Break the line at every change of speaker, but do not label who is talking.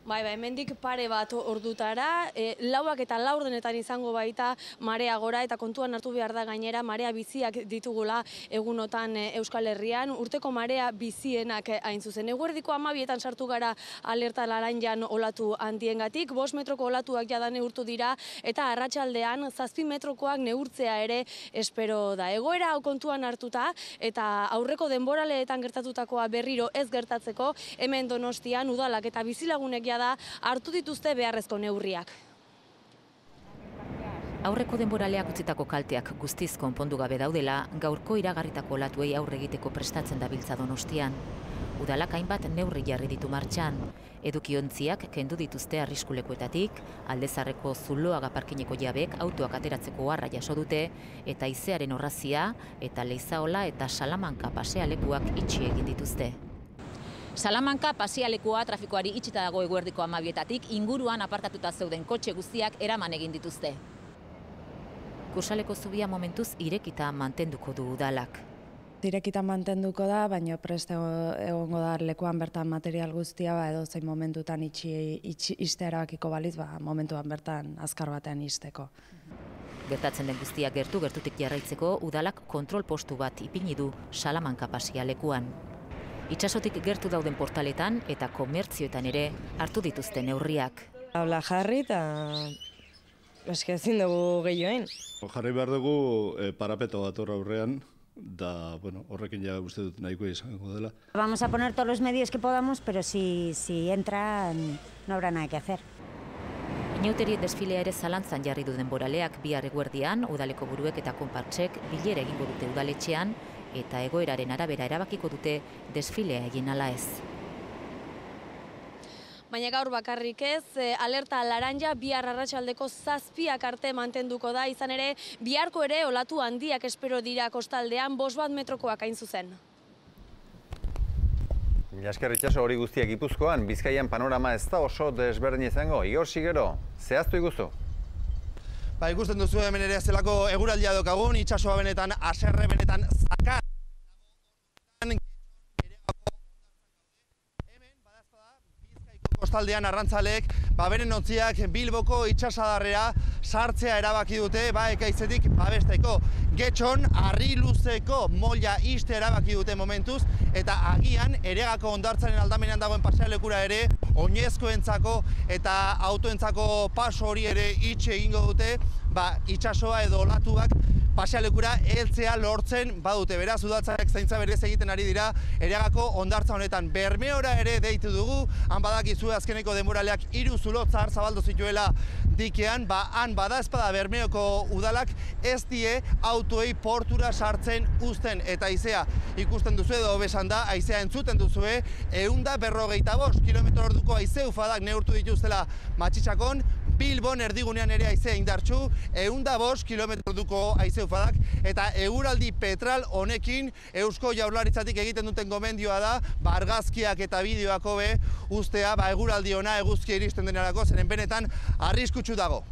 Bai, hemendik pare bat ordutara, 4 eta 4 izango baita marea gora, eta kontuan hartu behar da gainera marea biziak ditugula egunotan Euskal Herrian, urteko marea bizienak hain zuzen. Eguerdiko 12etan sartu gara alerta laranjan olatu handiengatik, 5 metroko olatuak jada neurtu dira, eta arratsaldean 7 metrokoak neurtzea ere espero da. Egoera hau kontuan hartuta, eta aurreko denboraleetan gertatutakoa berriro ez gertatzeko, hemen Donostian udalak eta bizilagunek da hartu dituzte beharrezko neurriak.
Aurreko denboraleak utzitako kalteak guztiz konpondu gabe daudela, gaurko iragarritako olatuei aurre egiteko prestatzen dabiltza Donostian. Udalak hainbat neurri jarri ditu martxan. Edukiontziak kendu dituzte arriskulekuetatik, Aldezarreko Zuloaga parkineko jabek autoak ateratzeko harra jaso dute, eta Haizearen Orrazia eta Leizaola eta Salamanka pasealekuak itxi egin dituzte. Salamanka pasealekua trafikoari itxita dago eguerdiko 12etatik, inguruan aparkatuta zeuden kotxe guztiak eraman egin dituzte. Kursaleko zubia momentuz irekita mantenduko du udalak.
Irekita mantenduko da, baina prest egongo da lekuan bertan material guztia, edo zein momentutan ixtea erabakiko baliz, momentuan bertan azkar batean ixteko.
Gertatzen den guztiak gertutik jarraitzeko, udalak kontrol postu bat ipini du Salamanka pasealekuan. Itsasotik gertu dauden portaletan eta komertzioetan ere hartu dituzte neurriak.
Habla jarri eta ezin dugu gehioen.
Jarri behar dugu parapeto bat aurrean, da horrekin ja uste dut nahiko izango dela.
Vamos a poner todos los medios que podamos, pero si entra no habrá nada que hacer.
Inauteriek desfilea ere zalantzan jarri du denboraleak bihar eguerdian, udaleko buruek eta konpartsek bilera egingo dute udaletxean, eta egoeraren arabera erabakiko dute desfilea egin ala ez.
Baina gaur bakarrik ez, alerta laranja bihar arratsaldeko 7 arte mantenduko da, izan ere biharko ere olatu handiak espero dira kostaldean, 5 metrokoak hain zuzen.
Jasker itxaso hori guztiak Gipuzkoan, Bizkaian panorama ez da oso desberdin izango. Igor Sigero, zehaztu iguzu?
Ikusten duzu hemen ere zelako eguraldia daukagun, itxasoa benetan haserre, benetan zakar. Hemen, badazpada, Bizkaiko kostaldean arrantzaleek, beren ontziak Bilboko itxasadarrera sartzea erabaki dute, ekaitzetik babesteko. Getxon, harri luzeko molla iste erabaki dute momentuz, eta agian Eregako hondartzaren aldamenean dagoen pasealekura ere, oinezkoentzako eta autoentzako paso hori ere itxe egingo dute, itxasoa edo olatuak pasealekura heltzea lortzen badute. Beraz, udaltzaileak zaintza berez egiten ari dira Eregako hondartza honetan. Bermeora ere deitu dugu, han badakizue azkeneko denboraleak 3 zulo zahar zabaldu zituela dikean, han badaezpada Bermeoko udalak ez die autoei portura sartzen uzten, eta haizea ikusten duzu edo besan da, haizea entzuten duzue, 155 km/h haize ufadak neurtu dituztela Matxitsakon, Bilbon erdigunean ere haizea indartsu, 105 km/h haize ufadak, eta eguraldi petral honekin Eusko Jaurlaritzatik egiten duten gomendioa da, argazkiak eta bideoak hobe uztea, eguraldi ona eguzkia iristen denerako, zeren benetan arriskutsu dago.